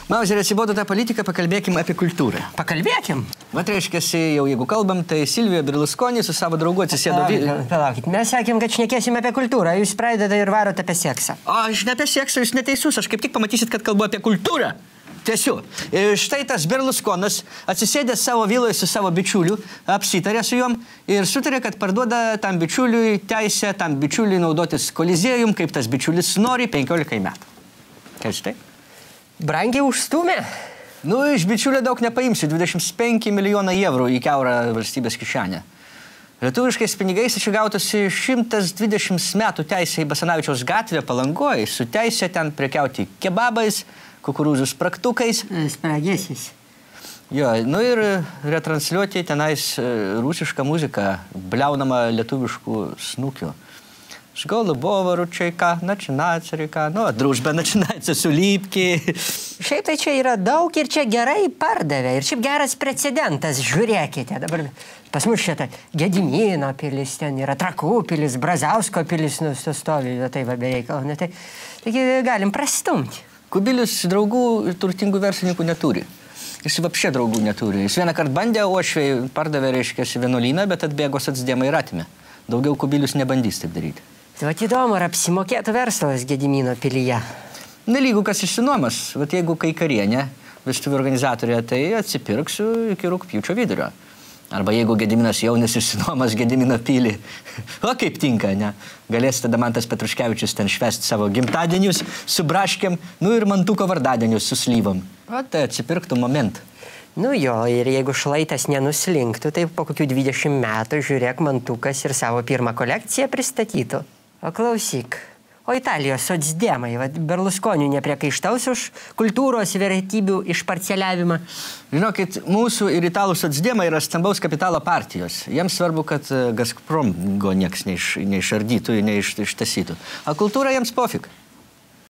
Mauzerio, atsibodo tą politiką, pakalbėkim apie kultūrą. Pakalbėkim. Vat reiškia, jau jeigu kalbam, tai Silvija Berlusconi su savo draugu atsisėdo... Palaukit, mes sakėm, kad šnekėsim apie kultūrą, jūs pradedate ir varot apie seksą. O, aš ne apie seksą, jūs neteisus, aš kaip tik pamatysit, kad kalbu apie kultūrą. Tiesiu. Ir štai tas Berlusconas atsisėdęs savo viloje su savo bičiuliu, apsitarė su juom ir sutarė, kad parduoda tam bičiuliui teisę, tam bičiuliui naudotis kolizėjum, kaip tas bičiulis nori 15 metų. Kaip štai? Brangiai užstumė? Nu, iš bičiulio daug nepaimsi, 25 milijoną eurų į kiaurą valstybės kišenę. Lietuviškais pinigais čia gautųsi 120 metų teisė į Basanavičiaus gatvę Palangoje, su teisė ten prekiauti kebabais, kukurūzų spragtukais. Spragėsis. Jo, nu ir retransliuoti tenais rusišką muziką, bliaunamą lietuviškų snukių. С голубого ручейка начинается река. Nu, дружба начинается с улыбки. Šiaip tai čia yra daug ir čia gerai pardavė. Ir šiaip geras precedentas, žiūrėkite. Dabar pas mus šitą Gedimino pilis, ten yra Trakų pilis, Brazausko pilis nustovi, tai va bereikalo. Taigi galim prastumti. Kubilius draugų ir turtingų verslininkų neturi. Jis vapšė draugų neturi. Jis vieną kartą bandė, Uošviai pardavė, reiškia, vienuolyną, bet atbėgo socdemai ir atėmė. Daugiau Kubilius nebandys taip daryti. Tai įdomu, ar apsimokėtų verslas Gedimino pilyje? Nelygu, kas išsinuomas. Vat jeigu kai karienė, vestuvių organizatorė, tai atsipirksiu iki rugpjūčio vidurio. Arba jeigu Gediminas jaunis išsinuomas Gedimino pilį. O kaip tinka, ne? Galės tada Mantas Petruškevičius ten švęsti savo gimtadienius su braškėm, nu ir Mantuko vardadienius su slyvom. O tai atsipirktų momentą. Nu jo, ir jeigu šlaitas nenuslinktų, tai po kokių 20 metų, žiūrėk, Mantukas ir savo pirmą kolekciją pristatytų. O klausyk, o Italijos socdemai, Berlusconių nepriekaištaus už kultūros vertybių išparceliavimą? Žinokit, mūsų ir italų socdemai yra stambaus kapitalo partijos. Jiems svarbu, kad Gazpromo nieks neišardytų, neištasytų. O kultūra jiems pofik.